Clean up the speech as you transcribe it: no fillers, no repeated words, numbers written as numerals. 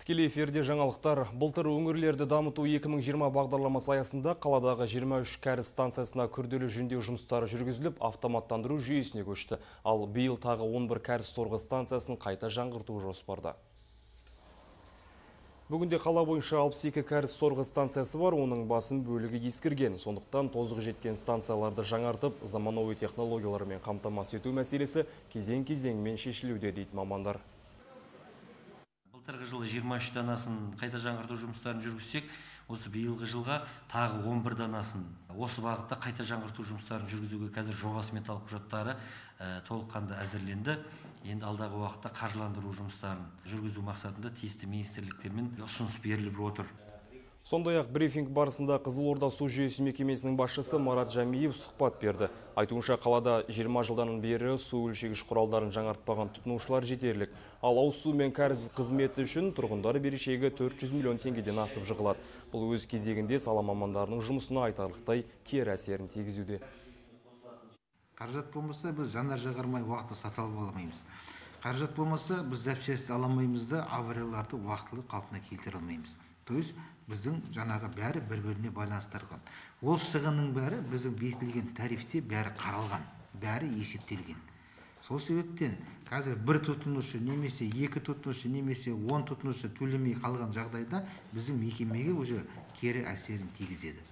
Тікелей эфирде жаңалықтар. Былтыр өңірлерді дамыту 2020 бағдарламасы аясында қаладағы 23 кәріз станциясына күрделі жөндеу жұмыстары жүргізіліп, автоматтандыру жүйесіне көшті. Ал биыл тағы 11 кәріз сорғы станциясын қайта жаңғырту жоспарда. Бүгінде қала бойынша 62 кәріз сорғы станциясы бар, оның басым бөлігі ескірген. Сондықтан тозығы жеткен станцияларды жаңартып, заманауи технологиялармен қамтамасыз ету мәселесі кезең-кезеңмен шешілуде дейді мамандар. Былтырғы жылы 23 данасын қайта жаңғырту жұмыстарын жүргізсек, осы биылғы жылға тағы 11 данасын осы бағытта қайта жаңғырту жұмыстарын жүргізуге қазір жобасы металық құжаттары толыққанды әзірленді. Енді алдағы уақытта қаржыландыру жұмыстарын жүргізу мақсатында тиісті министрліктермен ұсыныс беріліп отыр. Сондай-ақ брифинг барысында Қызылорда су жүйесі мекемесінің басшысы Марат Жамиев сұхбат берді. Айтуынша, қалада 20 жылдан бері су өлшегіш құралдарын жаңартпаған тұтынушылар жетерлік. Ал ауыз су мен кәріз қызметі үшін тұрғындар берешегі 400 миллион теңгеден асып жығылады. Бұл өз кезегінде сала мамандарының жұмысына айтарлықтай кері әсерін тигізуде. Қаражат болмаса, біз жанар-жағармай уақытты сата алмаймыз. Қаражат болмаса, біз запчасти аламаймыз да, аварияларды уақытылы қалпына келтіре алмаймыз. То есть біздің жаңағы бәрі бір-біріне байланыстырылған. Ол шығынның бәрі біздің бекітілген тарифте бәрі қаралған, бәрі есептелген. Сол себептен қазір бір тұтынушы немесе екі тұтынушы немесе 10 тұтынушы төлемей қалған жағдайда біздің мекемеге уже кері әсерін тигізеді.